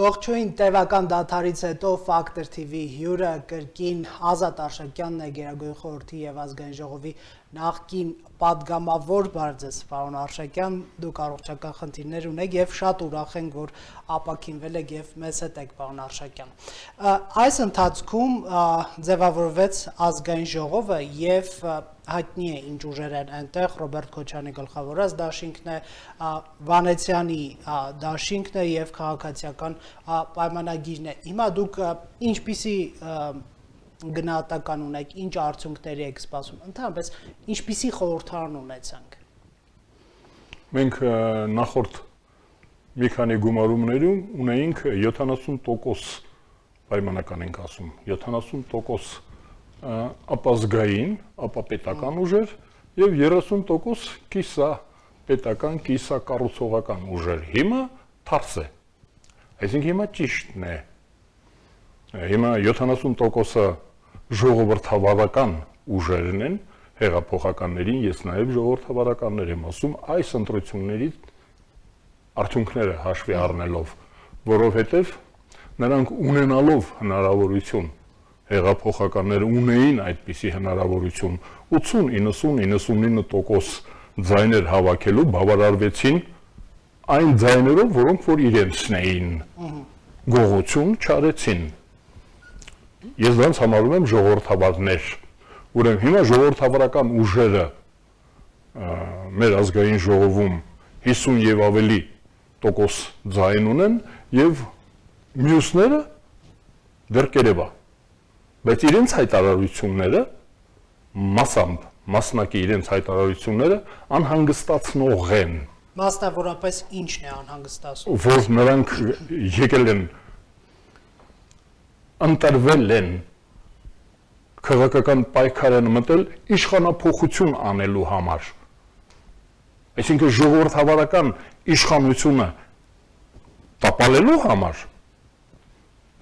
Ողջույն, տևական դադարից հետո Factor TV հյուրը կրկին Ազատ Արշակյանն է, Գերագույն խորհրդի եւ ազգային ժողովի նախկին պատգամավոր, բարձր պարոն Արշակյան, դուք առողջական խնդիրներ ունեք եւ շատ ուրախ ենք, որ ապաքինվել եք եւ մեզ հետ եք, պարոն Արշակյան։ Այս ընթացքում ձևավորվեց ազգային ժողովը եւ հայտնի է ինչ ուժեր են այնտեղ, Ռոբերտ Քոչարյանի գլխավորած դաշինքն է, Վանեցյանի դաշինքն է եւ քաղաքացիական պայմանագիրն է։ Հիմա դուք ինչպիսի գնահատական ունեք, ինչ արդյունքների եք սպասում, ընդհանրապես ինչպիսի խորհրդարան ունեցանք։ Մենք նախորդ մի քանի գումարումներում ունեինք 70% պայմանական ենք ասում, 70% ապազգային, ապապետական ուժեր եւ 30% կիսապետական, կիսակառուցողական ուժեր։ Հիմա թարս է։ Այսինքն հիմա ճիշտն է։ Հիմա 70%-ը ժողովրդավարական ուժերն են, հեղափոխականներին, ես նաեւ ժողովրդավարականներ եմ ասում, այս ընտրությունների արդյունքները հաշվի առնելով, որովհետեւ նրանք ունենալով հնարավորություն հեղափոխականները ունեին այդպիսի հնարավորություն 80-99% ձայներ հավաքելու բավարարվեցին այն ձայներով, որոնք որ իրենցն էին գողություն չարեցին։ Ես դրանց համարում եմ ժողովրդավարներ։ Ուրեմն հիմա ժողովրդավարական ուժերը մեր ազգային ժողովում 50 եւ ավելի տոկոս ձայն ունեն եւ մյուսները դեռ կերևա։ Բայց իրենց հայտարարությունները մասամբ, մասնակի իրենց հայտարարությունները անհանգստացնող են։ Մասնավորապես ինչն է անհանգստացնում։ Որ նրանք եկել են, ընտրվել են, քաղաքական պայքար են մտել իշխանափոխություն անելու համար։ Այսինքն ժողովրդավարական իշխանությունը տապալելու համար։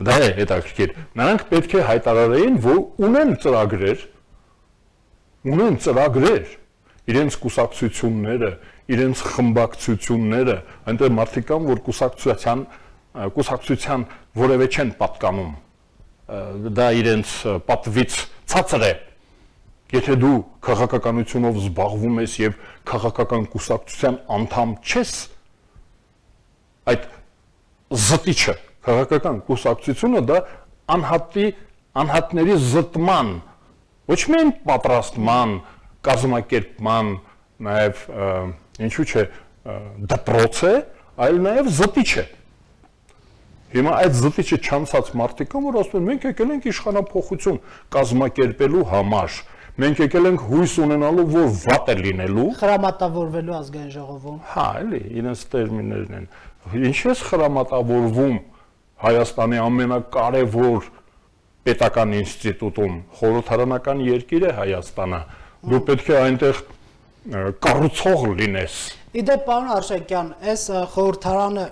Դա է հետաքրքիր։ Նրանք պետք է հայտարարեին, որ ունեն ծրագրեր, իրենց կուսակցությունները, իրենց խմբակցությունները, այնտեղ մարդիկ կան, որ կուսակցության որևէ չեն պատկանում։ Դա իրենց պատվից ցածր է։ Եթե դու քաղաքականությունով զբաղվում ես եւ քաղաքական կուսակցության անդամ չես, այդ զտիչը քաղաքական կուսակցությունը դա անհատների զտման, ոչ միայն պատրաստման, կազմակերպման, նաև ինչու՞ չէ դպրոց է, այլ նաև զտիչ է։ Հիմա այդ զտիչը չանցած մարդիկ կան, որ ասում են մենք եկել ենք իշխանափոխություն կազմակերպելու համար, մենք եկել ենք հույս ունենալու, որ վատ է լինելու, խրամատավորվելու ազգային ժողովում։ Հա, էլի, իրենց տերմիններն են։ Ինչ ես խրամատավորվում Հայաստանի ամենակարևոր պետական ինստիտուտում, խորհրդարանական երկիր է Հայաստանը, դու պետք է այնտեղ կառուցող լինես։ Իդեպ, պարոն Արշակյան, այս խորհրդարանը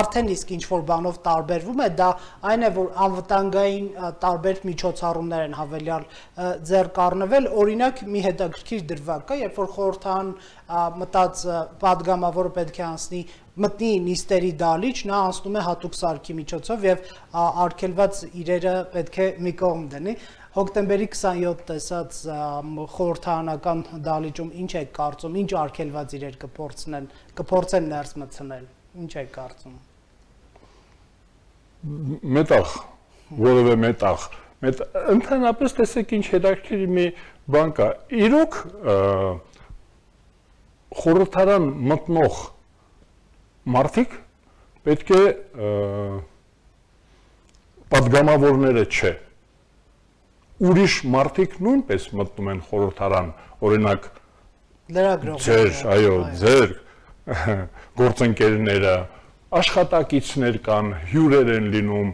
արդեն իսկ ինչ-որ բանով տարբերվում է, դա այն է, որ անվտանգային տարբեր միջոցառումներ են հավելյալ ձեռք առնվել, օրինակ մի հետաքրքիր դրվագ կա, երբ որ խորհրդարան մտած պատգամավորը պետք է մտնի նիստերի դալիճ, նա անցնում է հատուկ սարքի միջոցով եւ արգելված իրերը պետք է մի կողմ դնի։ Հոկտեմբերի 27 տեսած խորհրդարանական դալիճում ինչ եք կարծում, ինչ արգելված իրեր կփորձեն ներս մտցնել, ինչ եք կարծում։ Մետաղ, որևէ մետաղ, ընդհանրապես տեսեք ինչ հետաքրքիր մի բան կա։ Իրոք խորհրդարան մտնող մարդիկ պետք է պատգամավորները չէ։ Ուրիշ մարդիկ նույնպես մտնում են խորհրդարան, օրինակ ձեր գործընկերները, աշխատակիցներ կան, հյուրեր են լինում,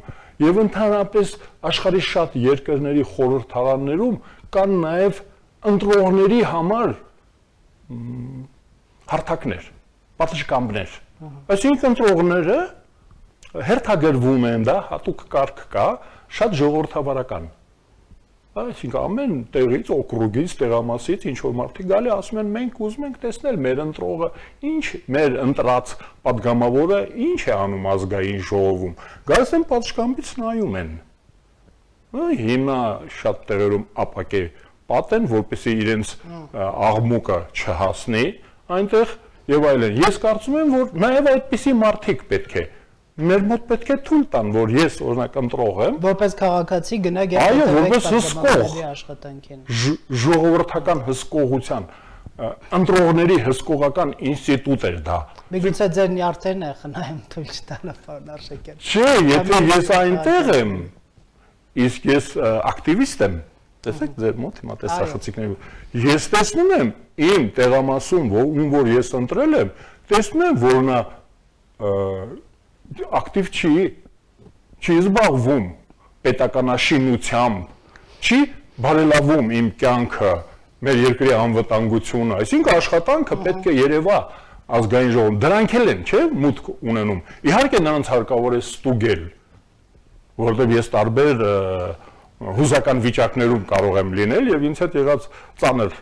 եւ ընդհանրապես աշխարհի շատ երկրների խորհրդարաններում կան նաեւ ընտրողների համար հարթակներ, պատշգամբներ։ Այսինքն ընտրողները հերթագրվում են, դա հատուկ կարգ կա, շատ ժողովրդավարական։ Այսինքն ամեն տեղից, օկրուգից, տեղամասից ինչ որ մարդիկ գալի ասում են մենք ուզում ենք տեսնել մեր ընտրողը, ինչ մեր ընտրած падգամավորը ինչ է անում ազգային ժողովում։ Գալիս են պատշգամբից նայում են։ Հիմա շատ տեղերում ապակե պատ են, որպեսզի իրենց աղմուկը չհասնի այնտեղ եւ այլն։ Ես կարծում եմ, որ նաեւ այդպիսի մարդիկ պետք է մեր մոտ պետք է թույլ տան, որ ես օրինակ ընտրող եմ, որպես քաղաքացի գնաք եւ որպես հսկող աշխատանքին, ժողովրդական հսկողության, ընտրողների հսկողական ինստիտուտ էր դա։ Միգուցե ձեր նյարդերն է խնայում թույլ չտալը, պարոն Արշակյան։ Չէ, եթե ես այնտեղ եմ, իսկ ես ակտիվիստ եմ, տեսեք ձեր մոտ հիմա տեսախցիկների, ես տեսնում եմ իմ տեղամասում, որ ես ընտրել եմ, տեսնում եմ, որ նա ակտիվ չի զբաղվում պետականաշինությամբ, չի բարելավում իմ կյանքը, մեր երկրի անվտանգությունը, այսինքն աշխատանքը պետք է երևա ազգային ժողովում, դրանք էլ են, չէ, մուտք ունենում։ Իհարկե նրանց հարկավոր է ստուգել, որովհետև ես տարբեր հուզական վիճակներում կարող եմ լինել եւ ինձ հետ եղած ծանր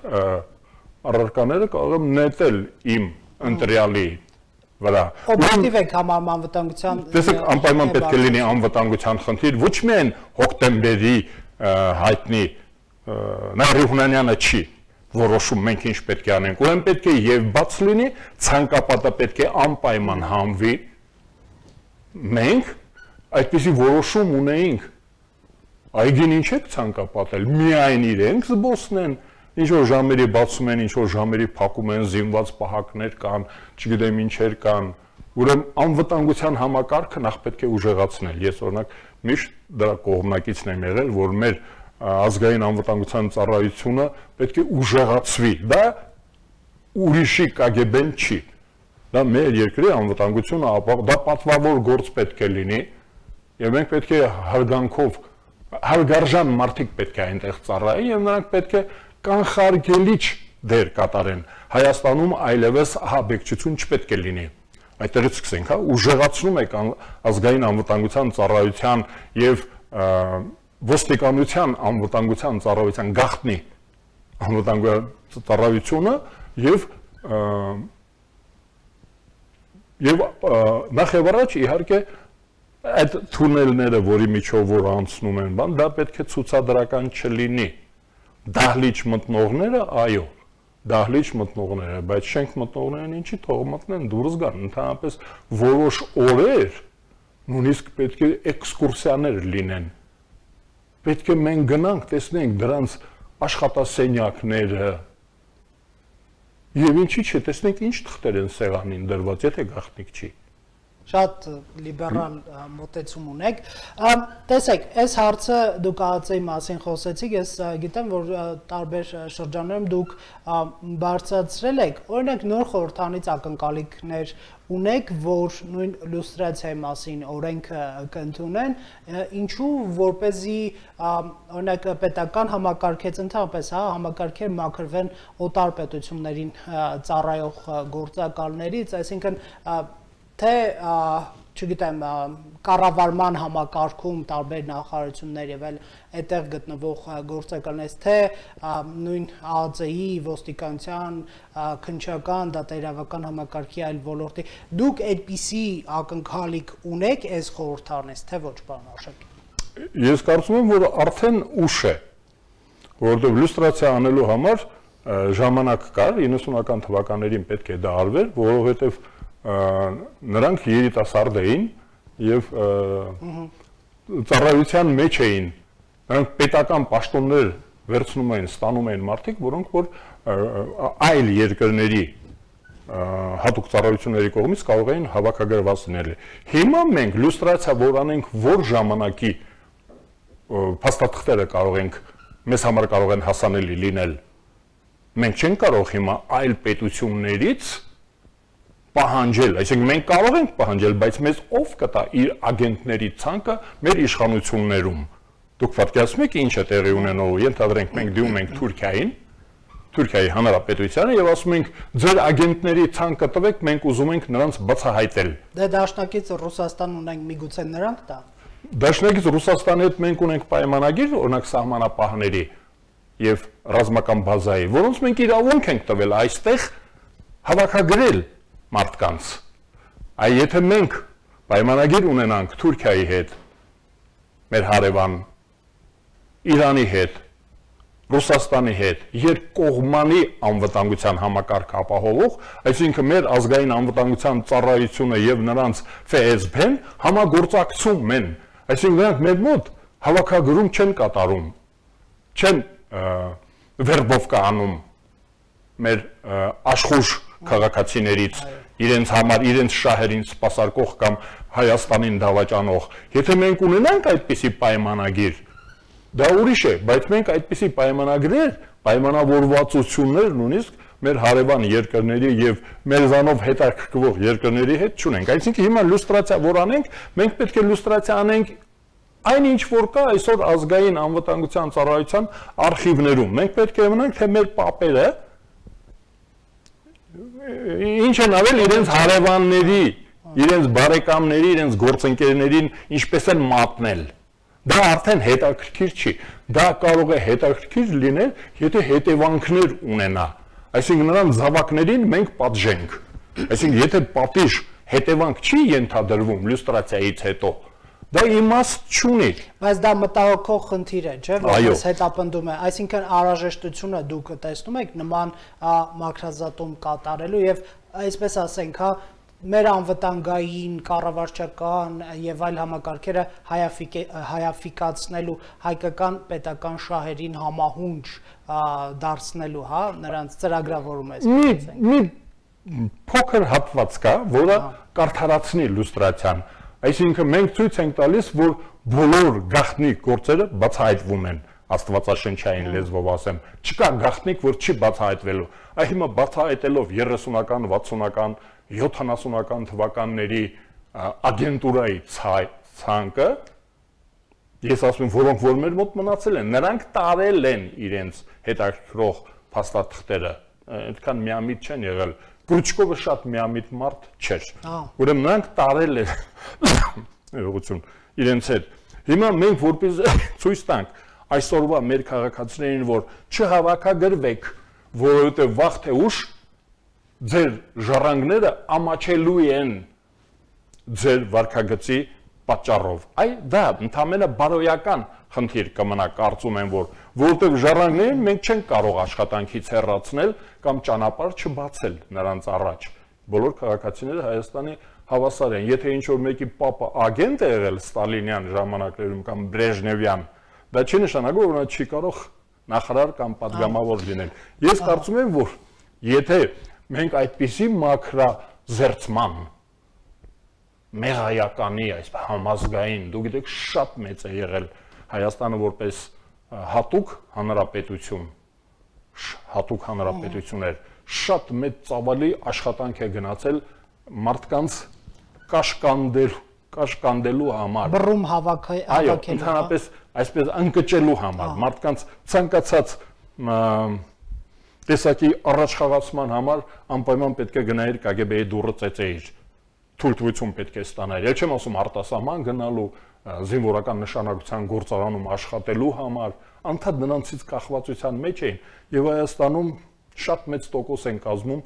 առարկաները կարող եմ նետել իմ ընտրյալի վրա։ Օբյեկտիվ եք համարում անվտանգության։ Տեսեք, անպայման պետք է լինի անվտանգության խնդիր, ոչ միայն հոկտեմբերի հայտնի Նարիհունանյանը չի որոշում մենք ինչ պետք է անենք, ուրեմն պետք է եւ բաց լինի, ցանկապատը պետք է անպայման հանվի։ Մենք այդպիսի որոշում ունեինք։ Այգին ինչ եք ցանկապատել, միայն իրենք զբոսնեն, ինչ որ ժամերի բացում են, ինչ որ ժամերի փակում են, զինված պահակներ կան, չգիտեմ ինչեր կան, ուրեմն անվտանգության համակարգը նախ պետք է ուժեղացնել։ Ես օրինակ միշտ դրա կողմնակիցն եմ եղել, որ մեր ազգային անվտանգության ծառայությունը պետք է ուժեղացվի։ Դա ուրիշի KGB-ն չի։ Դա մեր երկրի անվտանգությունը, դա պատվավոր գործ պետք է լինի, եւ մենք պետք է հարգանքով հարգարժան մարդիկ պետք է այնտեղ ծառայեն եւ նրանք պետք է կանխարգելիչ դեր կատարեն։ Հայաստանում այլևս ահաբեկչություն չպետք է լինի։ Այդտեղից սկսենք, հա, ուժեղացնում եք ազգային անվտանգության ծառայության եւ ոստիկանության անվտանգության ծառայության գաղտնի անվտանգության ծառայությունը եւ նախ եւ առաջ իհարկե այդ թունելները, որի միջով որ անցնում են, բան, դա պետք է ցուցադրական չլինի։ Դահլիճ մտնողները, այո, դահլիճ մտնողները, բայց շենք մտնողներն ինչի թող մտնեն, դուրս գան, ընդհանրապես որոշ օրեր նույնիսկ պետք է էքսկուրսիաներ լինեն։ Պետք է մենք գնանք, տեսնենք դրանց աշխատասենյակները եւ ինչի՞ չէ, տեսնենք ինչ թղթեր են սեղանին դրված, եթե գաղտնիք չի։ Շատ լիբերալ մոտեցում ունեք։ Տեսեք, այս հարցը դուք ԱԱՑ-ի մասին խոսեցիք, ես գիտեմ, որ տարբեր շրջաններում դուք բարձրացրել եք, օրինակ նոր խորհրդանից ակնկալիքներ ունեք, որ նույն լյուստրացիայի մասին օրենքը կընդունեն, ինչու որպեսզի օրինակ պետական համակարգից ընդհանրապես համակարգեր մաքրվեն օտար պետություններին ծառայող գործակալներից, այսինքն թե չգիտեմ կառավարման համակարգում տարբեր նախարարություններ եւ այլ այդտեղ գտնվող գործակալներից թե նույն ԱԱԾ-ի ոստիկանության քննչական դատաիրավական համակարգի այլ ոլորտի դուք այդպիսի ակնկալիք ունեք այս խորհրդանից թե ոչ պարոն Արշակյան։ Ես կարծում եմ որ արդեն ուշ է որովհետեւ լյուստրացիա անելու համար ժամանակ կար 90-ական թվականներին պետք է դա արվեր որովհետեւ նրանք երիտասարդ էին եւ ծառայության մեջ էին նրանք պետական պաշտոններ վերցնում էին ստանում էին մարդիկ որոնք որ այլ երկրների հատուկ ծառայությունների կողմից կարող էին հավաքագրված լինել հիմա մենք լյուստրացիա որ անենք որ ժամանակի փաստաթղթերը կարող ենք մեզ համար կարող են հասանելի լինել մենք չենք կարող հիմա այլ պետություններից պահանջել, այսինքն մենք կարող ենք պահանջել, բայց մեզ ով կտա իր ագենտների ցանկը մեր իշխանություններում։ Դուք պատկերացնում եք ինչ է տեղի ունենալու, ենթադրենք մենք դիմում ենք Թուրքիային, Թուրքիայի Հանրապետությանը եւ ասում ենք ձեր ագենտների ցանկը տվեք, մենք ուզում ենք նրանց բացահայտել։ Դե դաշնակից Ռուսաստան ունենք միգուցե նրանք տա։ Դաշնակից Ռուսաստանի հետ մենք ունենք պայմանագիր, օրինակ սահմանապահների եւ ռազմական բազայի, որոնց մենք իրավունք ենք տվել այստեղ հավաքագրել մարդկանց։ Այ եթե մենք պայմանագիր ունենանք Թուրքիայի հետ, մեր հարևան, Իրանի հետ, Ռուսաստանի հետ, երկկողմանի անվտանգության համակարգ ապահովող, այսինքն մեր ազգային անվտանգության ծառայությունը եւ նրանց ՖՍԲ-ն համագործակցում են, այսինքն նրանք մեր մոտ հավաքագրում չեն կատարում, չեն վերբովկա անում մեր աշխուժ քաղաքացիներից, իրենց համար, իրենց շահերին սպասարկող կամ Հայաստանին դավաճանող։ Եթե մենք ունենանք այդպիսի պայմանագիր, դա ուրիշ է, բայց մենք այդպիսի պայմանագրեր, պայմանավորվածություններ նույնիսկ մեր հարևան երկրների եւ մեզանով հետաքրքրվող երկրների հետ չունենք։ Այսինքն հիմա լյուստրացիա որ անենք, մենք պետք է լյուստրացիա անենք այն ինչ որ կա այսօր ազգային անվտանգության ծառայության արխիվներում։ Մենք պետք է իմանանք, թե մեր պապերը ինչ են ավել իրենց հարևանների, իրենց բարեկամների, իրենց գործընկերներին ինչպես են մատնել։ Դա արդեն հետաքրքիր չի։ Դա կարող է հետաքրքիր լինել, եթե հետևանքներ ունենա։ Այսինքն նրանց զավակներին մենք պատժենք։ Այսինքն եթե պատիժ հետևանք չի ենթադրվում լյուստրացիայից հետո, դա իմաստ չունի։ Բայց դա մտահոգող խնդիր է, չէ՞, որպես հետապնդում է։ Այսինքն անհրաժեշտությունը դուք տեսնում եք նման մաքրազատում կատարելու եւ այսպես ասենք, հա, մեր անվտանգային, կառավարչական եւ այլ համակարգերը հայաֆիկացնելու, հայկական պետական շահերին համահունչ դարձնելու, հա, նրանց ծրագրավորում է։ Մի փոքր հատված կա, որը կարդարացնի լյուստրացիան։ Այսինքն մենք ցույց ենք տալիս, որ բոլոր գաղտնի գործերը բացահայտվում են, աստվածաշնչային լեզվով ասեմ։ Չկա գաղտնիք, որ չի բացահայտվելու։ Այ հիմա բացահայտելով 30-ական, 60-ական, 70-ական թվականների ագենտուրայի ցանկը, ես ասում եմ, որոնք որ մեր մոտ մնացել են, նրանք տարել են իրենց հետաքրքրող փաստաթղթերը, այդքան միամիտ չեն եղել։ Կրուչկովը շատ միամիտ մարդ չէր։ Ուրեմն նրանք տարել են իրենց հետ։ Հիմա մենք որպես ցույց տանք այսօրվա մեր քաղաքացիներին, որ չհավաքագրվեք, որովհետև վաղ թե ուշ ձեր ժառանգները ամաչելու են ձեր վարքագծի պատճառով։ Այ դա ընդամենը բարոյական խնդիր կմնա, կարծում եմ, որովհետև ժառանգներին մենք չենք կարող աշխատանքից հեռացնել կամ ճանապարհ չբացել նրանց առաջ։ Բոլոր քաղաքացիները Հայաստանի հավասար են։ Եթե ինչ-որ մեկի պապը ագենտ է եղել Ստալինյան ժամանակներում կամ Բրեժնևյան, դա չի նշանակում, որ նա չի կարող նախարար կամ պատգամավոր լինել։ Ես կարծում եմ, որ եթե մենք այդպիսի մաքրազերծման մեղայականի, այս համազգային, դուք գիտեք, շատ մեծ է եղել Հայաստանը որպես հատուկ հանրապետություն էր, շատ մեծ ծավալի աշխատանք է գնացել մարդկանց կաշկանդելու համար, բռում հավաքելու, ընդհանրապես այսպես ընկճելու համար, մարդկանց ցանկացած տեսակի առաջխաղացման համար անպայման պետք է գնայր ԿԳԲ-ի դուռը ծեծեիր, թույլտվություն պետք է ստանայր։ Էլ չեմ ասում արտասահման գնալու, զինվորական նշանակության գործարանում աշխատելու համար, անդադ նրանցից կախվածության մեջ էին եւ Հայաստանում շատ մեծ տոկոս են կազմում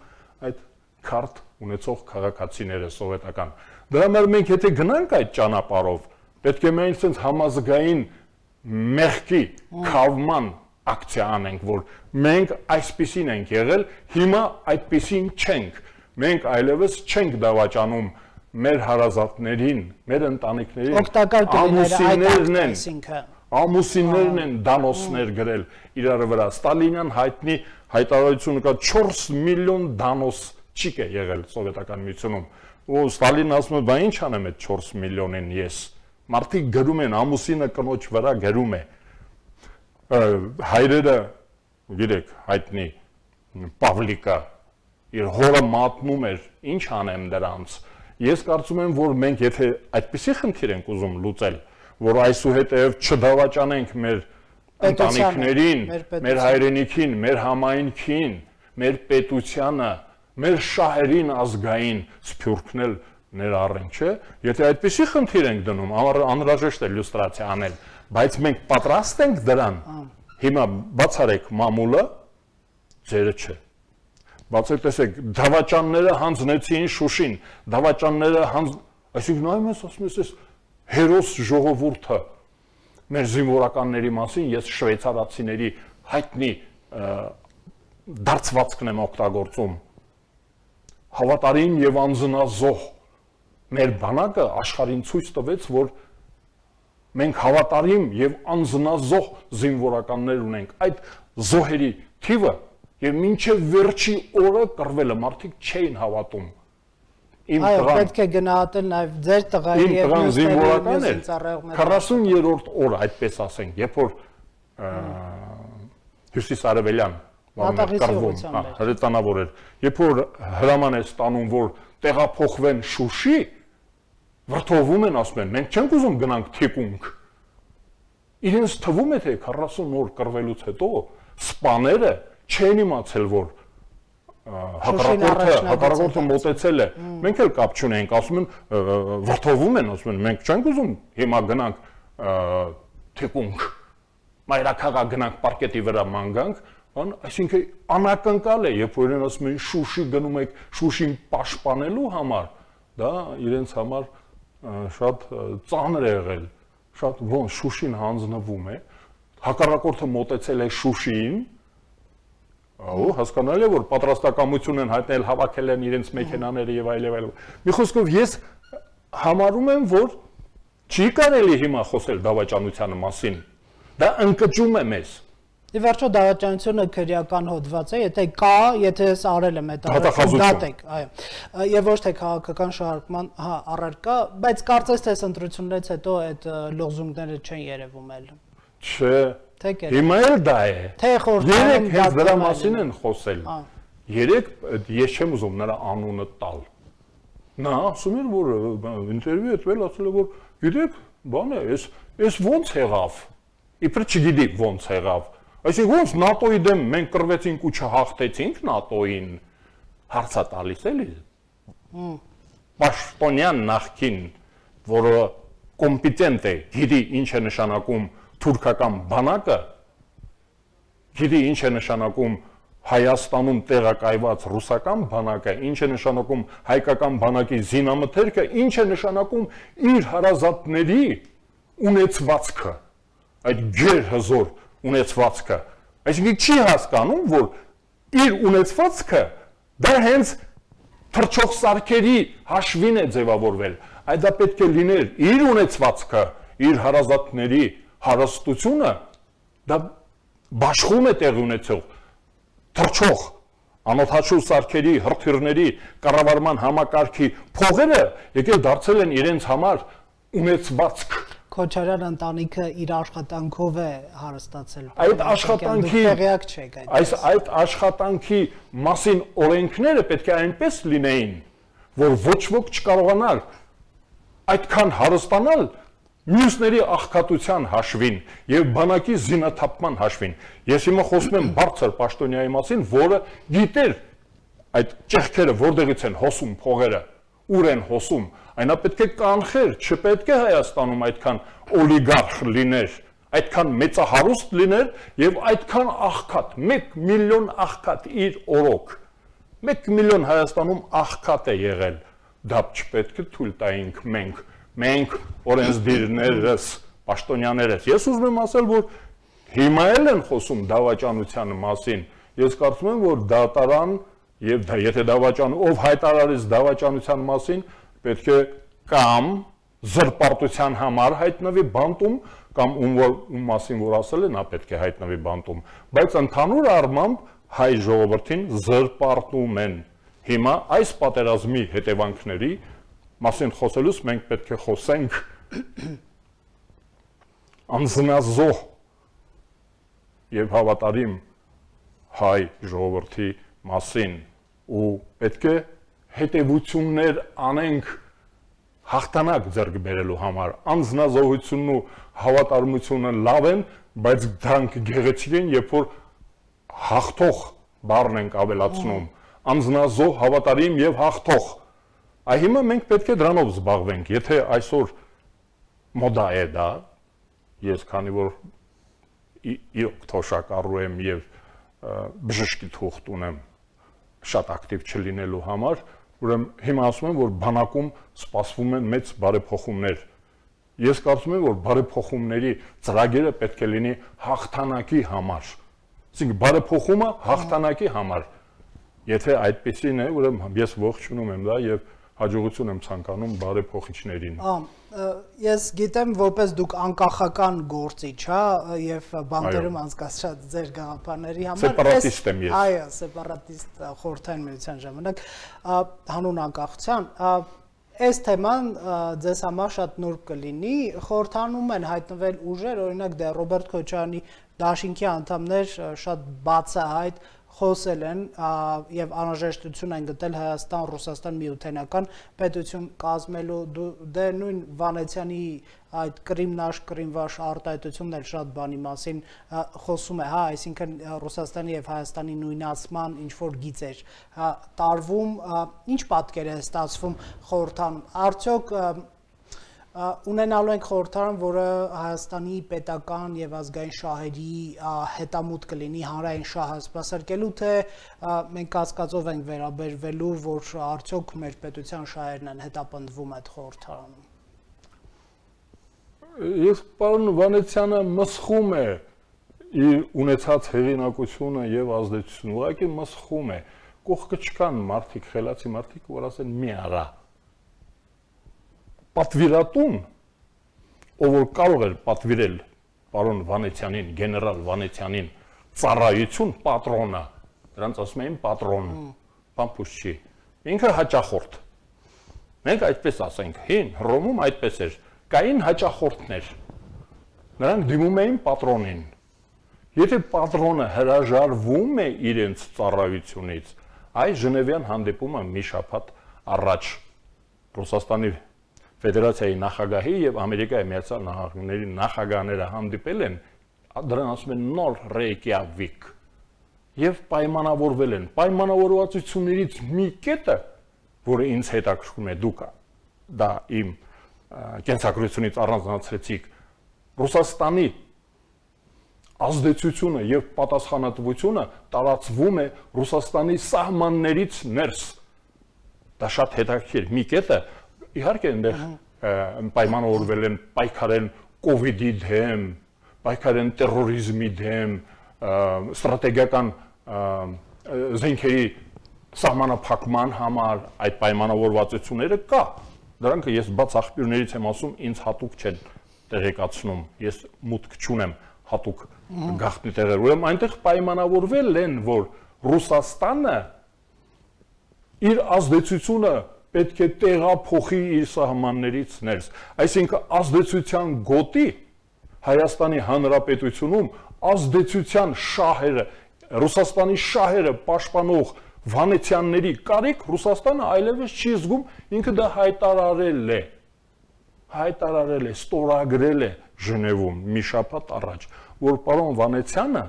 այդ քարտ ունեցող քաղաքացիները սովետական։ Դրա համար մենք եթե գնանք այդ ճանապարհով, պետք է մենք sense համազգային մեղքի քավման ակցիա անենք, որ մենք այսպիսին ենք եղել, հիմա այդպիսին չենք։ Մենք այլևս չենք դավաճանում մեր հարազատներին, մեր ընտանիքներին, ամուսիններն են դանոսներ գրել իրար վրա։ Ստալինյան հայտնի հայտարարությունը կա 4 միլիոն դանոս չիկ է եղել սովետական միությունում։ Ու Ստալինն ասում է, բա ինչ անեմ այդ 4 միլիոնին ես։ Մարդիկ գրում են, ամուսինը կնոջ վրա գրում է։ Հայրերը, գիտեք, հայտնի Պավլիկը իր հորը մատնում էր, ինչ անեմ դրանց։ Ես կարծում եմ, որ մենք եթե այդպիսի խնդիր ենք ուզում լուծել, որ այսուհետև չդավաճանենք մեր ընտանիքներին, մեր հայրենիքին, մեր համայնքին, մեր պետությանը, մեր շահերին ազգային սփյուռքնել ներառենք, չէ՞։ Եթե այդպիսի խնդիր ենք դնում, անհրաժեշտ է լյուստրացիա անել, բայց մենք պատրաստ ենք դրան։ Հիմա բացարեք մամուլը, ձերը չէ։ Բացեք, տեսեք, դավաճանները հանձնեցին Շուշին, դավաճանները այսինքն նայում ես, ասում ես, հերոս ժողովուրդը մեր զինվորականների մասին ես շվեյցարացիների հայտնի դարձվածքն եմ օգտագործում։ Հավատարիմ եւ անձնազոհ մեր բանակը աշխարհին ցույց տվեց, որ մենք հավատարիմ եւ անձնազոհ զինվորականներ ունենք։ Այդ զոհերի թիվը եւ մինչեւ վերջի օրը կռվելը մարդիկ չէին հավատում։ Այո, պետք է գնահատել նաեւ ձեր տղայի եւ զինվորականներ 40-րդ օրը, այդպես ասենք, երբ որ Հյուսիսարևելյան հրետանավոր էր, երբ որ հրաման է ստանում, որ տեղափոխվեն Շուշի, վրդովում են, ասում են, մենք չենք ուզում գնանք թիկունք։ Իրենց թվում է, թե 40 օր կռվելուց հետո սպաները չեն իմացել, որ հակառակորդը մոտեցել է։ Մենք էլ կապ չունենք, ասում են, վրդովում են, ասում են, մենք չենք ուզում հիմա գնանք թիկունք, մայրաքաղաք գնանք պարկետի վրա ման գանք, այսինքն անակնկալ է, երբ որ իրեն ասում են Շուշի գնում եք Շուշին պաշտպանելու համար, դա իրենց համար շատ ծանր է եղել, շատ ոնց Շուշին հանձնվում է, հակառակորդը մոտեցել է Շուշիին, հասկանալի է, որ պատրաստակամություն են հայտնել, հավաքել են իրենց մեքենաները եւ այլն։ Մի խոսքով ես համարում եմ, որ չի կարելի հիմա խոսել դավաճանության մասին, դա ընկճում է մեզ։ Ի վերջո դավաճանությունը քրեական հոդված է, եթե կա, եթե ես արել եմ այդ դատեք, այո։ Եվ ոչ թե քաղաքական շարժման առարկա, բայց կարծես թե ընտրություններից հետո այդ լոզունգները չեն երևում էլ։ Չէ։ Հիմա էլ դա է։ Երեք հենց դրա մասին են խոսել։ Երեք ես չեմ ուզում նրա անունը տալ։ Նա ասում էր, որ ինտերվյու է տվել, ասել է, որ գիտեք, բան է, էս ոնց եղավ։ Իբր չգիտի ոնց եղավ։ Այսինքն ոնց ՆԱՏՕ-ի դեմ մենք կռվեցինք ու չհաղթեցինք ՆԱՏՕ-ին, հարցա տալիս էլի։ Պաշտոնյան նախկին, որը կոմպետենտ է, գիտի ինչ է նշանակում թուրքական բանակը, գիտի ինչ է նշանակում Հայաստանում տեղակայված ռուսական բանակը, ինչ է նշանակում հայկական բանակի զինամթերքը, ինչ է նշանակում իր հարազատների ունեցվածքը, այդ գերհզոր ունեցվածքը, այսինքն չի հասկանում, որ իր ունեցվածքը դա հենց թռչող սարքերի հաշվին է ձևավորվել, այդ դա պետք է լիներ իր ունեցվածքը, իր հարազատների հարստությունը, դա բաշխում է տեղի ունեցող, թռչող, անօթաչու սարքերի, հրթիռների, կառավարման համակարգի փողերը եկել դարձել են իրենց համար ունեցվածք։ Քոչարյան ընտանիքը իր աշխատանքով է հարստացել։ Այդ աշխատանքի տեղյակ չեք այդ աշխատանքի մասին օրենքները պետք է այնպես լինեին, որ ոչ ոք չկարողանար այդքան հարստանալ մյուսների աղքատության հաշվին եւ բանակի զինաթափման հաշվին։ Ես հիմա խոսում եմ բարձր պաշտոնյայի մասին, որը գիտեր այդ ճեղքերը որտեղից են հոսում փողերը, ուր են հոսում, այնա պետք է կանխեր, չպետք է Հայաստանում այդքան օլիգարխ լիներ, այդքան մեծահարուստ լիներ եւ այդքան աղքատ, 1 միլիոն աղքատ իր օրոք, 1 միլիոն Հայաստանում աղքատ է եղել, դա չպետք է թույլ տայինք մենք օրենսդիրներս, պաշտոնյաներս։ Ես ուզում եմ ասել, որ հիմա էլ են խոսում դավաճանության մասին։ Ես կարծում եմ, որ դատարան եւ եթե ով հայտարարեց դավաճանության մասին, պետք է կամ զրպարտության համար հայտնվի բանտում, կամ ում մասին որ ասել է, նա պետք է հայտնվի բանտում, բայց ընդհանուր առմամբ հայ ժողովրդին զրպարտում են։ Հիմա այս պատերազմի հետևանքների մասին խոսելուց մենք պետք է խոսենք անձնազոհ եւ հավատարիմ հայ ժողովրդի մասին ու պետք է հետևություններ անենք հաղթանակ ձեռք բերելու համար անձնազոհությունն ու հավատարմությունը լավ են, բայց դրանք գեղեցիկ են, երբ որ հաղթող բառն ենք ավելացնում, անձնազոհ, հավատարիմ եւ հաղթող Այ հիմա մենք պետք է դրանով զբաղվենք, եթե այսօր մոդա է դա, ես քանի որ իրոք թոշակառու եմ եւ բժշկի թուղթ ունեմ շատ ակտիվ չլինելու համար, ուրեմն հիմա ասում եմ, որ բանակում սպասվում են մեծ բարեփոխումներ։ Ես կարծում եմ, որ բարեփոխումների ծրագիրը պետք է լինի հաղթանակի համար։ Այսինքն բարեփոխումը հաղթանակի համար։ Եթե այդպեսին է, ուրեմն ես ողջունում եմ դա եւ հաջողություն եմ ցանկանում բարեփոխիչներին։ Ես գիտեմ, որպես դուք անկախական գործիչ, հա, եւ բանտերում անցկացրած ձեր գաղափարների համար սեպարատիստ եմ ես։ Այո, սեպարատիստ խորհրդային միության ժամանակ հանուն անկախության այս թեման ձեզ համար շատ նուրբ կլինի, խորհրդանում են հայտնվել ուժեր, օրինակ դե Ռոբերտ Քոչարյանի դաշինքի անդամներ շատ բացահայտ խոսել են եւ անհրաժեշտություն են գտել Հայաստան-Ռուսաստան միութենական պետություն կազմելու դե նույն Վանեցյանի այդ Կրիմնաշ արտահայտությունն էլ շատ բանի մասին խոսում է, հա, այսինքն Ռուսաստանի եւ Հայաստանի նույնացման ինչ որ գիծեր տարվում, ինչ պատկեր է ստացվում խորհրդանում, արդյոք ունենալու ենք խորհրդարան, որը Հայաստանի պետական եւ ազգային շահերի հետամուտ կլինի հանրային շահը սպասարկելու, թե մենք կասկածով ենք վերաբերվելու, որ արդյոք մեր պետության շահերն են հետապնդվում այդ խորհրդարանում։ Ես պարոն Վանեցյանը մսխում է իր ունեցած հեղինակությունը եւ ազդեցությունը, ուղղակի մսխում է։ Կողքը չկան մարդիկ, խելացի մարդիկ, որ ասեն մի արա։ Պատվիրատուն, ով որ կարող էր պատվիրել պարոն Վանեցյանին, գեներալ Վանեցյանին ծառայություն պատրոնը, դրանց ասում էին պատրոն, բամփուշ չի, ինքը հաճախորդ։ Մենք այդպես ասենք, հին Հռոմում այդպես էր, կային հաճախորդներ, նրանք դիմում էին պատրոնին։ Եթե պատրոնը հրաժարվում է իրենց ծառայությունից, այ Ժնևյան հանդիպումը մի շաբաթ առաջ Ռուսաստանի Ֆեդերացիայի նախագահի եւ Ամերիկայի Միացյալ Նահանգների նախագահները հանդիպել են, դրան ասում են նոր Ռեյկյավիկ եւ պայմանավորվել են։ Պայմանավորվածություններից մի կետը, որը ինձ հետաքրքրում է, դուք դա իմ կենսագրությունից առանձնացրեցիք, Ռուսաստանի ազդեցությունը եւ պատասխանատվությունը տարածվում է Ռուսաստանի սահմաններից ներս։ Դա շատ հետաքրքիր մի կետը, իհարկե այնտեղ պայմանավորվել են պայքարել կոവിഡ്ի դեմ, պայքարել տերորիզմի դեմ, ստրատեգիական զենքերի սահմանափակման համար այդ պայմանավորվածությունները կա։ Դրանք ես բաց աղբյուրներից եմ ասում, ինձ հատուկ չեն տեղեկացնում, ես մուտք չունեմ հատուկ գաղտնի տեղեր, ուրեմն այնտեղ պայմանավորվել են, որ Ռուսաստանը իր ազդեցությունը պետք է տեղափոխի իր սահմաններից ներս, այսինքն ազդեցության գոտի Հայաստանի Հանրապետությունում ազդեցության շահերը, Ռուսաստանի շահերը պաշտպանող Վանեցյանների կարիք Ռուսաստանը այլևս չի զգում, ինքը դա հայտարարել է, ստորագրել է Ժնևում մի շաբաթ առաջ, որ պարոն Վանեցյանը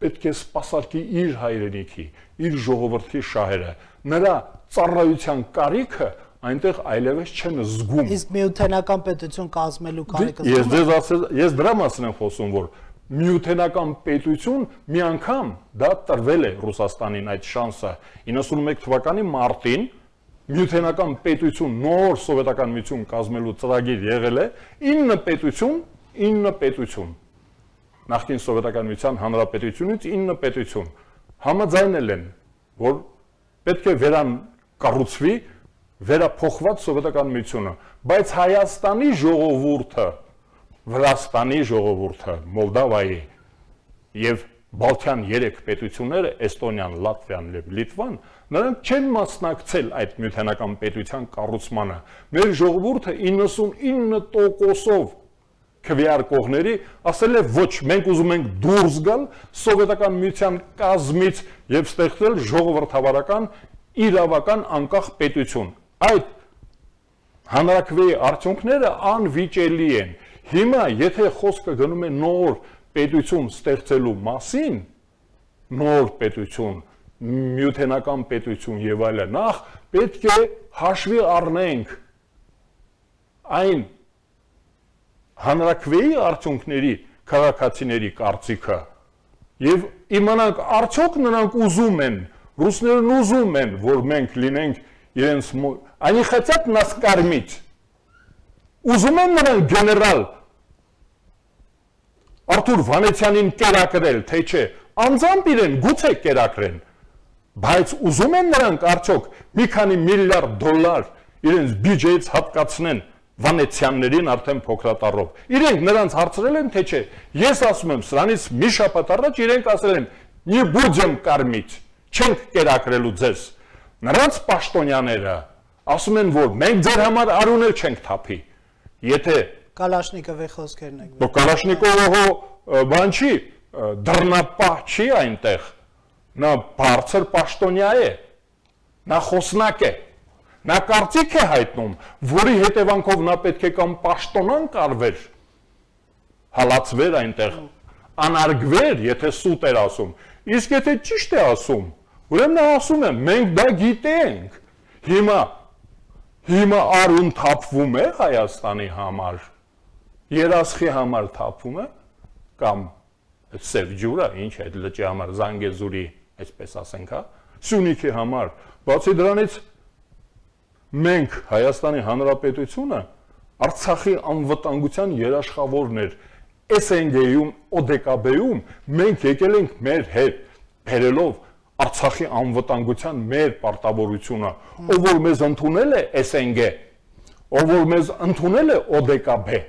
պետք է սպասարկի իր հայրենիքի, իր ժողովրդի շահերը, նրա ծառայության կարիքը այնտեղ այլևս չեն զգում։ Իսկ միութենական պետություն կազմելու կարիքը ես դրա մասին եմ խոսում, որ միութենական պետություն մի անգամ դա տրվել է Ռուսաստանին այդ շանսը 91 թվականի մարտին միութենական պետություն նոր սովետական միություն կազմելու ծրագիր եղել է 9 պետություն նախկին սովետական միության հանրապետությունից 9 պետություն համաձայնել են որ պետք է վերակառուցվի վերափոխված սովետական միությունը, բայց Հայաստանի ժողովուրդը, Վրաստանի ժողովուրդը, Մոլդավայի եւ Բալթյան 3 պետությունները, Էստոնիան, Լատվիան եւ Լիտվան, նրանք չեն մասնակցել այդ միութենական պետության կառուցմանը։ Մեր ժողովուրդը 99%-ով քվեարկողների ասել է ոչ, մենք ուզում ենք դուրս գալ սովետական միության կազմից եւ ստեղծել ժողովրդավարական իրավական անկախ պետություն։ Այդ հանրաքվեի արդյունքները անվիճելի են։ Հիմա եթե խոսքը գնում է նոր պետություն ստեղծելու մասին, նոր պետություն միութենական պետություն եւ այլն, նախ պետք է հաշվի առնենք այն հանրաքվեի արդյունքների քաղաքացիների կարծիքը եւ իմանանք արդյոք նրանք ուզում են, ռուսներն ուզում են, որ մենք լինենք իրենց они хотят нас кормить. Ուզում են նրանք գեներալ Արթուր Վանեցյանին կերակրել, թե չէ, անձամբ իրեն գուցե կերակրեն, բայց ուզում են նրանք արդյոք մի քանի միլիարդ դոլար իրենց բյուջեից հատկացնեն Վանեցյաններին արդեն փոքրատառով։ Իրենք նրանց հարցրել են, թե չէ, ես ասում եմ, սրանից մի շաբաթ առաջ իրենք ասել են, «Не будем кормить», չենք կերակրելու ձեզ։ Նրանց պաշտոնյաները ասում են, որ մենք ձեր համար արուն էլ չենք թափի։ Եթե Կալաշնիկովի խոսքերն եք։ Դու Կալաշնիկովը բան չի, դռնապահ չի այնտեղ։ Նա բարձր պաշտոնյա է։ Նա խոսնակ է։ Նա կարծիք է հայտնում, որի հետևանքով նա պետք է կամ պաշտոնան կարվեր, հալածվեր այնտեղ, անարգվեր, եթե սուտ էր ասում։ Իսկ եթե ճիշտ է ասում, ուրեմն նա ասում է, մենք դա գիտենք։ Հիմա արուն թափվում է Հայաստանի համար, երասխի համար թափվում է, կամ սև ջուրը, ինչ է, լճի համար, Զանգեզուրի, այսպես ասենք, Սյունիքի համար, բացի դրանից մենք Հայաստանի Հանրապետությունը Արցախի անվտանգության երաշխավորն էր, SNG-ում, ODKB-ում մենք եկել ենք մեր հետ, բերելով Արցախի անվտանգության մեր պարտավորությունը, ով որ մեզ ընդունել է SNG, ով որ մեզ ընդունել է ODKB,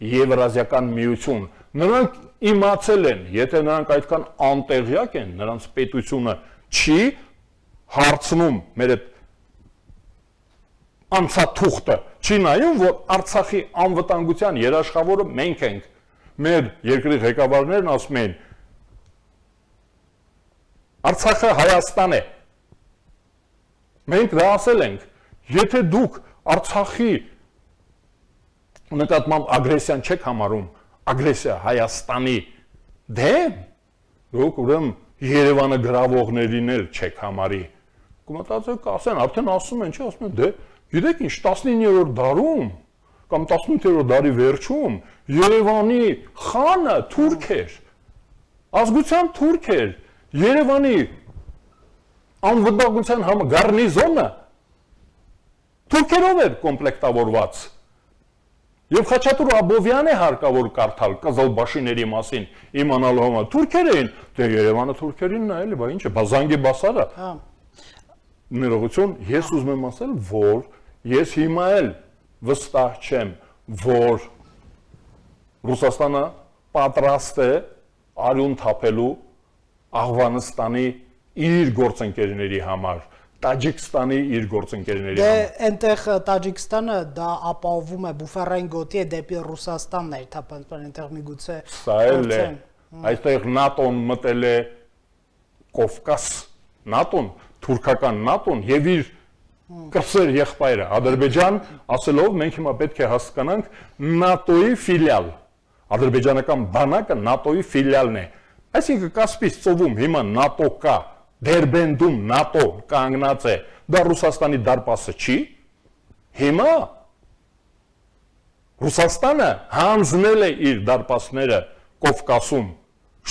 Եվրազիական միություն, նրանք իմացել են, եթե նրանք այդքան անտեղյակ են, նրանց պետությունը չի հարցնում մեր այդ անցաթուղթը, չի նայում, որ Արցախի անվտանգության երաշխավորը մենք ենք, մեր երկրի ղեկավարներն ասում են, Արցախը Հայաստան է, մենք դա ասել ենք, եթե դուք Արցախի նկատմամբ ագրեսիան չեք համարում, ագրեսիա Հայաստանի դեմ, դուք ուրեմն Երևանը գրավողներին էլ չեք համարի, կմտածեք ասեն, արդեն ասում են, չի ասում են, դե գիտեք ինչ, 19-րդ դարում կամ 18-րդ դարի վերջում Երևանի խանը թուրք էր, ազգության թուրք էր, Երևանի անվտանգության գարնիզոնը թուրքերով էր կոմպլեկտավորված։ Եվ Խաչատուր Աբովյանը հարկավոր կարդալ Կզալբաշիների մասին իմանալու համար թուրքեր էին, դե Երևանը թուրքերին նայել, բա ինչ է, Բազանգի բասարը։ Ներողություն, ես ուզում եմ ասել, որ ես հիմա էլ վստահ չեմ, որ Ռուսաստանը պատրաստ է արյուն թափելու Աղվանստանի իր գործընկերների համար, Տաջիկստանի իր գործընկերների համար։ Դե այնտեղ Տաջիկստանը դա ապահովում է բուֆերային գոտի է դեպի Ռուսաստանն էր թափանցման այնտեղ միգուցե։ Սա էլ է, այստեղ ՆԱՏՕ-ն մտել է Կովկաս, ՆԱՏՕ-ն, թուրքական ՆԱՏՕ-ն եւ իր կրսեր եղբայրը Ադրբեջան ասելով մենք հիմա պետք է հասկանանք ՆԱՏՕ-ի ֆիլիալ, ադրբեջանական բանակը ՆԱՏՕ-ի ֆիլիալն է, այսինքն Կասպից ծովում հիմա ՆԱՏՕ կա, Դերբենդում ՆԱՏՕ կանգնած է, դա Ռուսաստանի դարպասը չի, հիմա Ռուսաստանը հանձնել է իր դարպասները Կովկասում,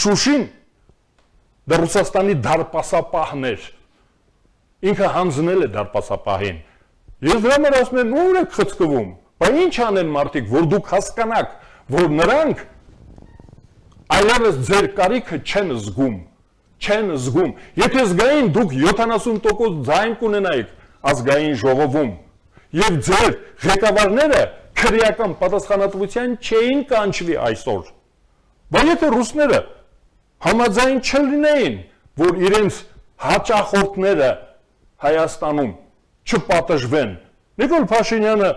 Շուշին դա Ռուսաստանի դարպասապահն էր, ինքը հանձնել է դարպասապահին, ես դրա համար ասում եմ ուր եք խցկվում, բա ինչ անեն մարդիկ, որ դուք հասկանաք, որ նրանք այլևս ձեր կարիքը չեն զգում, եթե զգային դուք 70% ձայն կունենայիք ազգային ժողովում և ձեր ղեկավարները քրեական պատասխանատվության չէին կանչվի այսօր, բայց եթե ռուսները համաձայն չլինեին, որ իրենց հաճախորդները Հայաստանում չպատժվեն, Նիկոլ Փաշինյանը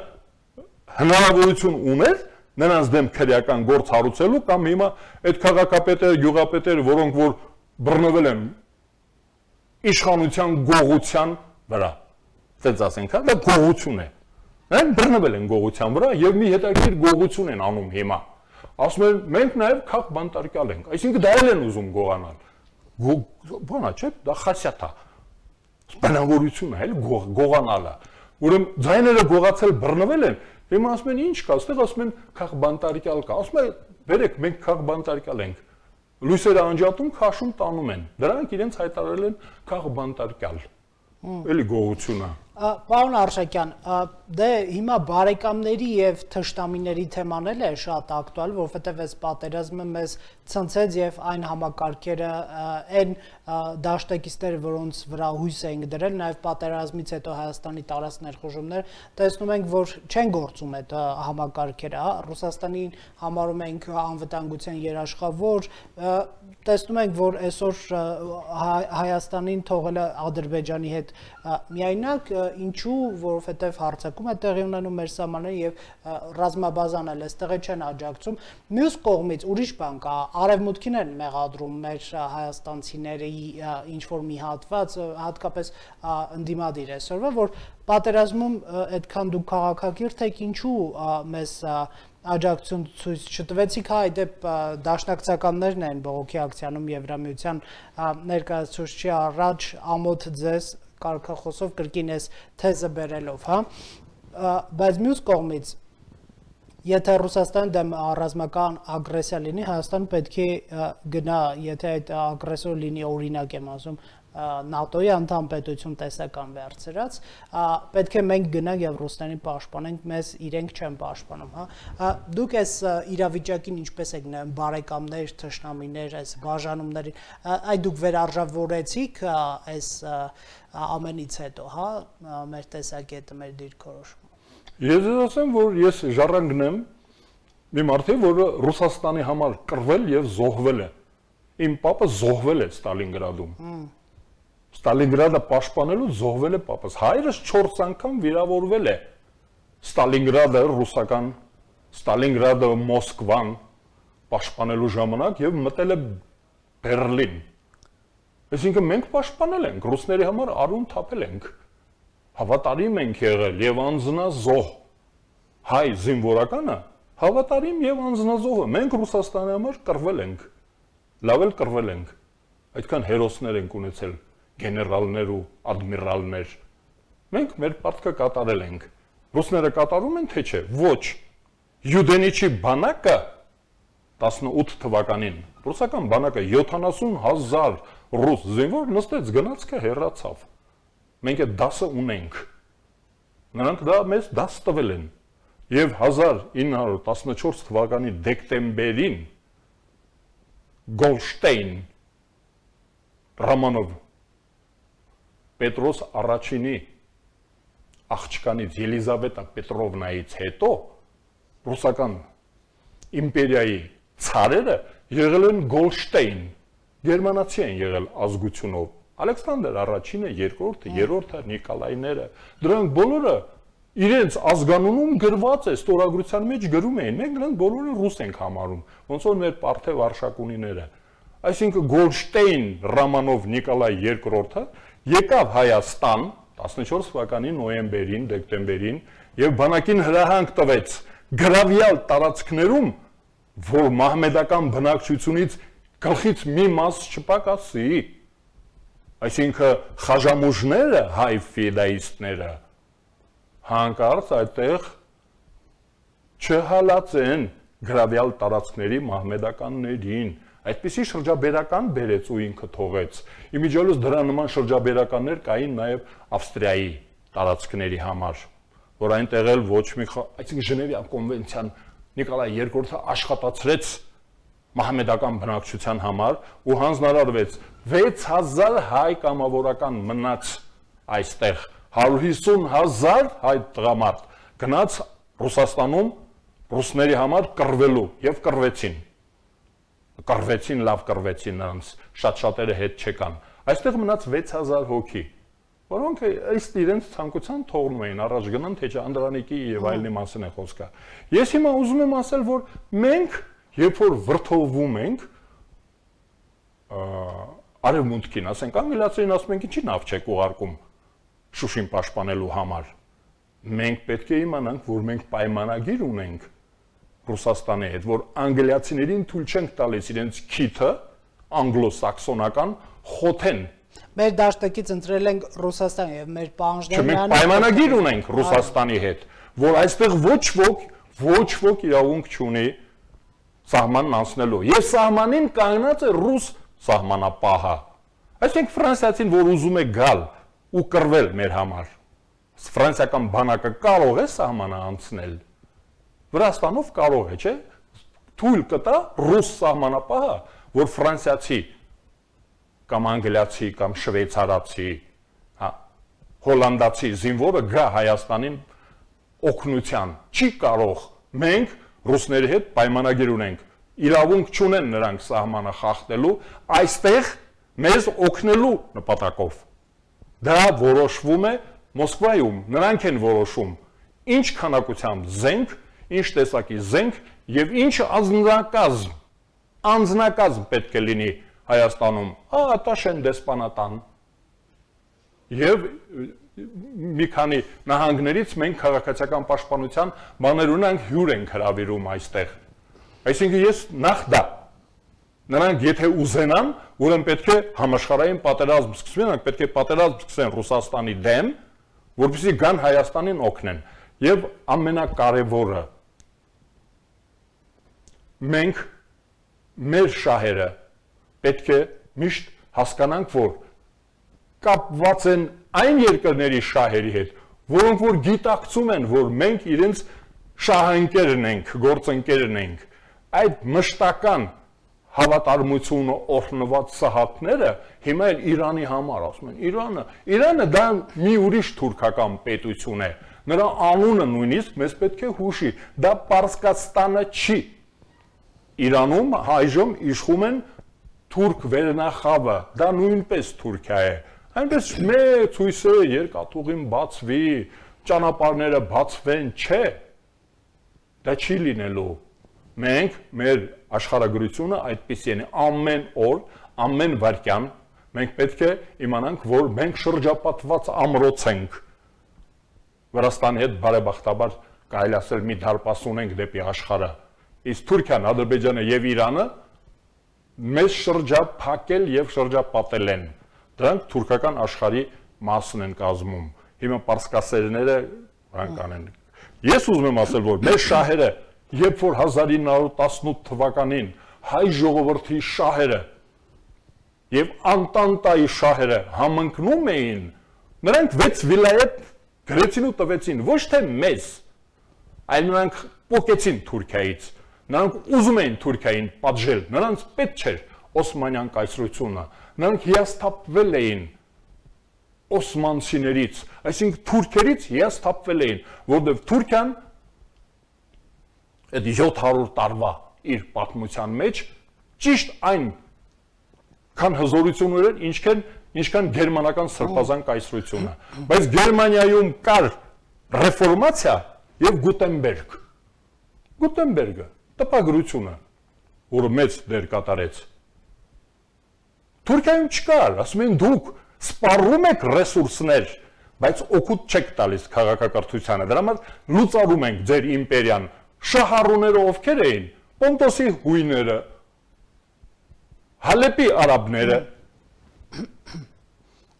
հնարավորություն ուներ նրանց դեմ քրեական գործ հարուցելու կամ հիմա այդ քաղաքապետերը, գյուղապետերը, որոնք որ բռնվել են իշխանության գողության վրա, ծեց ասենք, դա գողություն է, նրանք բռնվել են գողության վրա և մի հետաքրքիր գողություն են անում հիմա, ասում են մենք նաև քաղաք բանտարկյալ ենք, այսինքն դա էլ են ուզում գողանալ, բանա չէ, դա խասյաթ է։ Բնավորությունը էլ գողանալը։ Ուրեմն ձայները գողացել բռնվել են, հիմա ասում են ինչ կա, այստեղ ասում են քաղ բանտարկյալ կա։ Ասում են բերեք, մենք քաղ բանտարկյալ ենք։ Լույսերը անջատում, քաշում տանում են։ Դրանք իրենց հայտարարել են քաղ բանտարկյալ։ Էլի գողությունը։ Պարոն Արշակյան, դե հիմա բարեկամների եւ թշնամիների թեման էլ է շատ ակտուալ, որովհետեւ այս պատերազմը մեզ ցնցեց եւ այն համակարգերը, այն դաշտեկիստերը, որոնց վրա հույս էինք դրել, նաեւ պատերազմից հետո Հայաստանի տարած ներխուժումներ, տեսնում ենք, որ չեն գործում այդ համակարգերը, հա, Ռուսաստանին համարում ենք անվտանգության երաշխավոր, տեսնում ենք, որ այսօր Հայաստանին թողել է Ադրբեջանի հետ միայնակ, ինչու, որովհետև հարձակում է տեղի ունենում մեր սահմանները եւ ռազմաբազան էլ այստեղ չեն աջակցում։ Մյուս կողմից ուրիշ բան կա, արևմուտքին են մեղադրում մեր հայաստանցիների ինչ որ մի հատված, հատկապես ընդդիմադիր այսօրվա, որ պատերազմում այդքան դուք քաղաքակիրթ եք, ինչու մեզ աջակցություն ցույց չտվեցիք, հա, դեպ դաշնակցականներն են բողոքի ակցիանում Եվրամիության ներկայացուցչի առաջ ամոթ ձեզ կարգախոսով կրկին այս թեզը բերելով, հա, բայց մյուս կողմից եթե Ռուսաստանի դեմ ռազմական ագրեսիա լինի, Հայաստանը պետք է գնա, եթե այդ ագրեսոր լինի, օրինակ եմ ասում, ՆԱՏՕ-ի անդամ պետություն տեսական վերցրած, պետք է մենք գնանք եւ Ռուսներին պաշտպանենք, մեզ իրենք չեն պաշտպանում, հա։ Դուք այս իրավիճակին ինչպես եք նայում, բարեկամներ, թշնամիներ, այս բաժանումներին, այդ դուք վերարժավորեցիք այս ամենից հետո, հա, մեր տեսակետը, մեր դիրքորոշումը։ Ես ասեմ, որ ես ժառանգնեմ մի մարդի, որը Ռուսաստանի համար կռվել եւ զոհվել է։ Իմ պապը զոհվել է Ստալինգրադում։ Ստալինգրադը պաշտպանելու զոհվել է պապս։ Հայրս 4 անգամ վիրավորվել է։ Ստալինգրադը ռուսական, Ստալինգրադը Մոսկվան պաշտպանելու ժամանակ եւ մտել է Բերլին։ Այսինքն մենք պաշտպանել ենք, ռուսների համար արուն թափել ենք։ Հավատարիմ ենք եղել եւ անձնազոհ։ Հայ զինվորականը հավատարիմ եւ անձնազոհ է։ Մենք Ռուսաստանի համար կռվել ենք։ Լավ էլ կռվել ենք։ Այդքան հերոսներ ենք ունեցել, գեներալներ ու ադմիրալներ։ Մենք մեր պարտքը կատարել ենք։ Ռուսները կատարում են թե չէ։ Ոչ։ Յուդենիչի բանակը 18 թվականին ռուսական բանակը 70,000 ռուս զինվոր նստեց, գնացքը հեռացավ։ Մենք այդ դասը ունենք։ Նրանք դա մեզ դաս տվել են։ Եվ 1914 թվականի դեկտեմբերին Գոլշտեյն Ռամանով Պետրոս առաջինի աղջկանից Ելիզավետա Պետրովնայից հետո ռուսական իմպերիայի ցարերը եղել են Գոլշտեյն, գերմանացի են եղել ազգությունով։ Ալեքսանդր առաջինը, երկրորդը, երրորդը, Նիկոլայները, դրանք բոլորը իրենց ազգանունում գրված է, ստորագրության մեջ գրում էին, մենք նրանք բոլորը ռուս ենք համարում, ոնց որ մեր Պարթև արշակունիները։ Այսինքն Գոլշտեյն Ռամանով Նիկոլայ II-ը եկավ Հայաստան 14 թվականի նոյեմբերին, դեկտեմբերին եւ բանակին հրահանգ տվեց գրավյալ տարածքներում, որ մահմեդական բնակչությունից գլխից մի մաս չպակասի։ Այսինքն խաժամուժները, հայ ֆիդայիստները հանկարծ այդտեղ չհալածեն գրավյալ տարածքների մահմեդականներին։ Այդպիսի շրջաբերական բերեց ու ինքը թողեց։ Իմիջիալոց դրա նման շրջաբերականներ կային նաև Ավստրիայի տարածքների համար, որ այնտեղ էլ ոչ մի, այսինքն Ժնևյան կոնվենցիան Նիկոլայ II-ը աշխատացրեց մահմեդական բնակչության համար ու հանձնարարվեց 6000 հայ կամավորական մնաց այստեղ, 150,000 հայ տղամարդ գնաց Ռուսաստանում ռուսների համար կռվելու եւ կռվեցին, լավ կռվեցին նրանց, շատ-շատերը հետ չեկան, այստեղ մնաց 6000 հոգի, որոնք ըստ իրենց ցանկության թողնում էին, առաջ գնան, թե չէ Անդրանիկի եւ այլնի մասին է խոսքը։ Ես հիմա ուզում եմ ասել, որ մենք երբ որ վրթովվում ենք արևմուտքին, ասենք անգլիացիներին ասում ենք ինչի նավ չեք ուղարկում Շուշին պաշտպանելու համար։ Մենք պետք է իմանանք, որ մենք պայմանագիր ունենք Ռուսաստանի հետ, որ անգլիացիներին թույլ չենք տալիս իրենց քիթը անգլոսաքսոնական խոթեն։ Մեր դաշտակից ընտրել ենք Ռուսաստան եւ մեր պահանջները Մենք պայմանագիր ունենք Ռուսաստանի հետ, որ այստեղ ոչ ոք իրավունք չունի սահմանն անցնելու։ Եվ սահմանին կանգնած է ռուս սահմանապահը։ Այսինքն ֆրանսիացին, որ ուզում է գալ ու կռվել մեր համար, ֆրանսիական բանակը կարող է սահմանը անցնել։ Վրաստանով կարող է, չէ՞։ Թույլ կտա ռուս սահմանապահը, որ ֆրանսիացի կամ անգլիացի կամ շվեյցարացի, հոլանդացի զինվորը գա Հայաստանին օգնության։ Չի կարող։ Մենք ռուսների հետ պայմանագիր ունենք։ Իրավունք չունեն նրանք սահմանը խախտելու, այստեղ մեզ օգնելու նպատակով։ Դա որոշվում է Մոսկվայում, նրանք են որոշում ինչ քանակությամբ զենք, ինչ տեսակի զենք եւ ինչ անձնակազմ պետք է լինի Հայաստանում, Տաշեն դեսպանատան։ Եվ մի քանի նահանգներից մենք քաղաքացիական պաշտպանության բաներ ունենք, հյուր ենք հրավիրում այստեղ։ Այսինքն ես նախ դա նրանք եթե ուզենան, ուրեմն պետք է համաշխարհային պատերազմ սկսվի, նրանք պետք է պատերազմ սկսեն Ռուսաստանի դեմ, որպեսզի գան Հայաստանին օգնեն։ Եվ ամենակարևորը մենք մեր շահերը պետք է միշտ հասկանանք, որ կապված են այն երկրների շահերի հետ, որոնք որ գիտակցում են, որ մենք իրենց շահընկերն ենք, գործընկերն ենք, այդ մշտական հավատարմությունը օրհնված սահաթները հիմա էլ Իրանի համար ասում են, Իրանը դա մի ուրիշ թուրքական պետություն է, նրա անունը նույնիսկ մեզ պետք է հուշի, դա Պարսկաստանը չի, Իրանում այժմ իշխում են թուրք վերնախավը, դա նույնպես Թուրքիա է, այնպես մեծ հույս է երկաթուղին բացվի, ճանապարհները բացվեն, չէ, դա չի լինելու, մենք մեր աշխարհագրությունը այդպիսի է, ամեն օր, ամեն վայրկյան, մենք պետք է իմանանք, որ մենք շրջապատված ամրոց ենք, Վրաստանի հետ բարեբախտաբար կարելի ասել մի դարպաս ունենք դեպի աշխարհը, իսկ Թուրքիան, Ադրբեջանը եւ Իրանը մեզ շրջափակել եւ շրջապատել են, դրանք թուրքական աշխարհի մասն են կազմում, հիմա պարսկասերները նրանք անեն, ես ուզում եմ ասել, որ մեր շահերը, երբ որ 1918 թվականին հայ ժողովրդի շահերը եւ Անտանտայի շահերը համընկնում էին, նրանք 6 վիլայետ գրեցին ու տվեցին, ոչ թե մեզ, այլ նրանք պոկեցին Թուրքիայից, նրանք ուզում էին Թուրքիային պատժել, նրանց պետք չէր Օսմանյան կայսրությունը, նրանք հիասթափվել էին օսմանցիներից, այսինքն թուրքերից հիասթափվել էին, որովհետև Թուրքիան այդ 700 տարվա իր պատմության մեջ ճիշտ այն քան հզորություն ունեն, ինչքան գերմանական սրբազան կայսրությունը, բայց Գերմանիայում կար ռեֆորմացիա եւ Գուտենբերգը, տպագրությունը, որը մեծ դեր կատարեց։ Թուրքիայում չկար, ասում են դուք սպառում եք ռեսուրսներ, բայց օգուտ չեք տալիս քաղաքակրթությանը, դրա համար լուծարում ենք ձեր իմպերիան, շահառուները ովքեր էին, Պոնտոսի հույները, Հալեպի արաբները,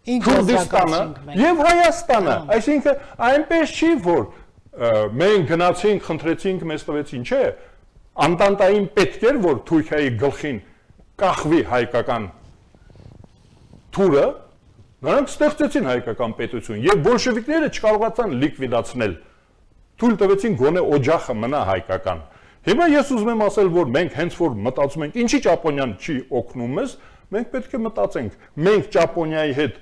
Քուրդիստանը եւ Հայաստանը, այսինքն այնպես չի, որ մենք գնացինք, խնդրեցինք, մեզ տվեցին, չէ, Անտանտային պետք էր, որ Թուրքիայի գլխին կախվի հայկական թուրը, նրանք ստեղծեցին հայկական պետություն եւ բոլշևիկները չկարողացան լիկվիդացնել, թույլ տվեցին գոնե օջախը մնա հայկական։ Հիմա ես ուզում եմ ասել, որ մենք հենց որ մտածում ենք, ինչի Ճապոնիան չի օգնում մեզ, մենք պետք է մտածենք, մենք Ճապոնիայի հետ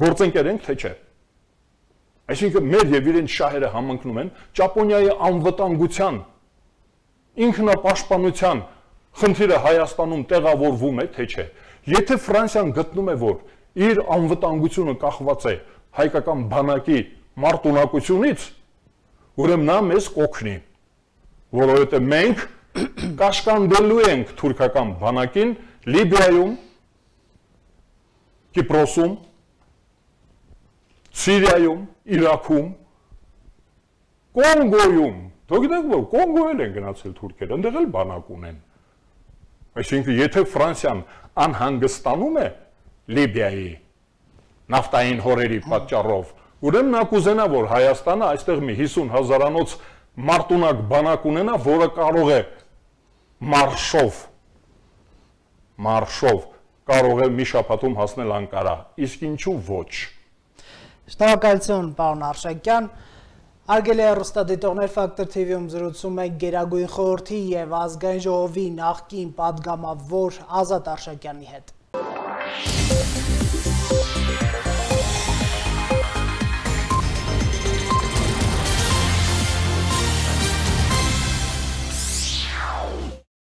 գործընկեր ենք, թե չէ։ Այսինքն մեր եւ իրենց շահերը համընկնում են Ճապոնիայի անվտանգության, ինքնապաշտպանության խնդիրը Հայաստանում տեղավորվում է, թե չէ։ Եթե Ֆրանսիան գտնում է, որ իր անվտանգությունը կախված է հայկական բանակի մարտունակությունից, ուրեմն նա մեզ կօգնի, որովհետև մենք կաշկանդելու ենք թուրքական բանակին Լիբիայում, Կիպրոսում, Սիրիայում, Իրաքում, Կոնգոյում, դուք գիտեք, որ Կոնգոյել են գնացել թուրքերը, այնտեղ էլ բանակ ունեն։ Այսինքն, եթե Ֆրանսիան անհանգստանում է Լիբիայի նավթային հորերի պատճառով, ուրեմն նա կուզենա, որ Հայաստանը այստեղ մի 50,000-անոց մարտունակ բանակ ունենա, որը կարող է մարշով կարող է մի շաբաթում հասնել Անկարա, իսկ ինչու ոչ։ Շնորհակալություն, պարոն Արշակյան։ Հարգելի հեռուստադիտողներ, Factor TV-ում զրուցում ենք Գերագույն խորհրդի եւ Ազգային ժողովի նախկին պատգամավոր Ազատ Արշակյանի հետ։